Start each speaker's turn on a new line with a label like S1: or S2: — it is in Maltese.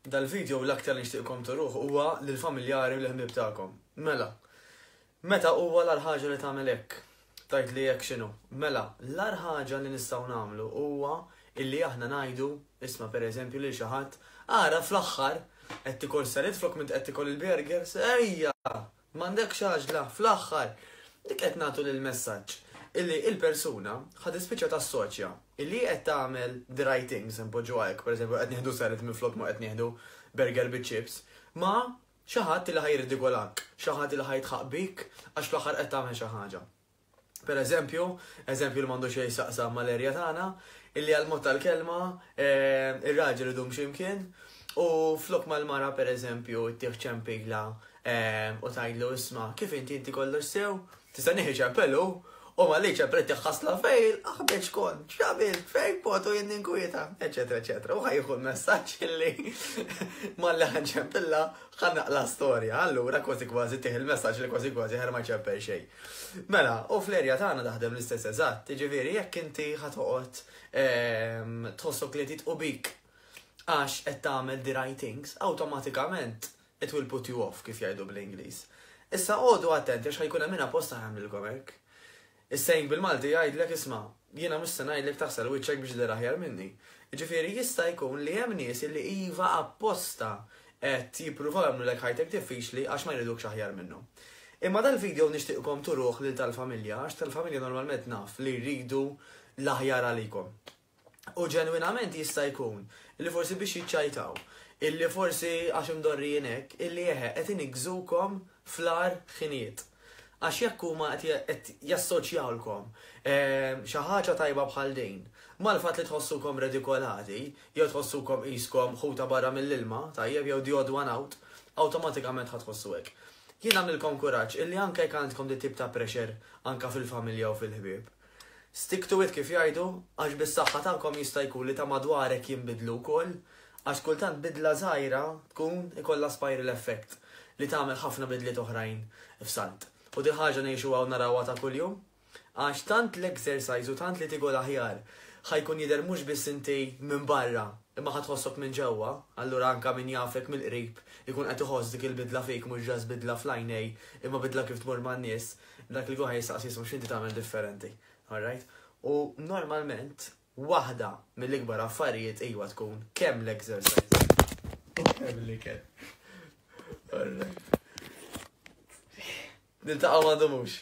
S1: Dal-video l-aktar li nixtieqkom turuh huwa lill-familjari u l-ħbieb tagħkom. Mela, meta huwa l-agħar ħaġa li tagħmel hekk? Tgħidli hekk x'inhu? Mela, l-agħar ħaġa li nistgħu nagħmlu huwa illi aħna ngħidu, isma' pereżempju lil xi ħadd, ara fl-aħħar qed tikol salad flok m'int qed tikol il-burgers, ejja! M'għandekx għaġla, fl-aħħar! Dik qed nagħtu lill-messaġġ illi il-persuna ħa tispiċċa tassoċja illi hi qed tagħmel the right things, inpoġġuha hekk, pereżempju qed nieħdu salad minflok ma qed nieħdu burger biċ-chips, ma' xi ħadd illi ħa jirridikolak, xi ħadd illi ħa jidħaq bik għax fl-aħħar qed tagħmel xi ħaġa. Per eżempju, eżempju li m'għandu xejn x'jaqsam mal-erja tagħna, illi għall-mod tal-kelma eh, ir-raġel idum x'imkien u flok mal-mara per eżempju ttieħ ċempila eh, u tgħidlu isma' kif inti inti kollox sew, tista' nieħi ċempelu u ma li ċempel ħasla fejn, aħbeġ kont, x'għamilt, fejn kont u jien ninkwieta, eċetera, eċetera. U ħajħu l-messaġġ illi malli ħanċempilla ħa naqla' storja, allura kważi kważi ttih il-messaġġ li kważi kważi ħer ma jċempel xejn. Mela, u fl-erja tagħna taħdem l-istess eżatt, jiġifieri jekk inti ħa toqgħod ehm, tħossok li qed bik għax qed tagħmel the right things, awtomatikament it will put you off kif jgħidu bl-Ingliż. Issa għodu attenti għax ħajkun hemm min apposta ħamlilkom hekk. Is-saying bil-Malti jgħidlek isma', jiena mhux se ngħidlek taħsel wiċċek biex tidher aħjar minni. Jiġifieri jista' jkun li hemm nies illi iva apposta qed jippruvaw jagħmlulek ħajtek diffiċli għax ma jridukx aħjar minnhom. Imma dal-video nixtieqkom turuh lil tal-familja għax tal-familja normalment naf li jridu l-aħjar għalikom. U ġenwinament jista' jkun li forsi biex jiċċajtaw, illi forsi għax imdorrijin hekk, illi eħe qed iniggżukom fl-agħar ħinijiet. Għax jekk huma qed jassoċjawlkom ehm, xi ħaġa tajba bħal din mal-fatt li tħossukom redikolati, jew tħossukom qiskom ħuta barra mill-ilma, tajjeb, jew the odd one out, awtomatikament ħa tħossu hekk. Jien nagħmlilkom kuraġġ illi anke jekk għandkom dit tip ta' pressure anke fil-familja u fil-ħbieb, Stick to it kif jgħidu, għax bis-saħħa tagħkom jista' jkun li ta' madwarek jinbidlu wkoll, għax kultant bidla żgħira tkun ikollha spiral effect li tagħmel ħafna bidliet oħrajn f'salt. U dil ħaġa ngħixuha u narawha ta' kuljum, għax tant l-exercise u tant li tikol aħjar ħa jkun jidher mhux biss inti minn barra imma ħa tħossok minn ġewwa, allura anke min jafek mill-qrib ikun qed iħoss dik il-bidla fik mhux just bidla fl-għajnej imma bidla kif tmur man-nies. Dak li jkun ħa jistaqsi jismu x'inti tagħmel differenti. Alright? U normalment waħda mill-ikbar affarijiet iwa tkun kemm l-exercise u kemm l-ikel. Alright. Niltaqgħu ma ndumux.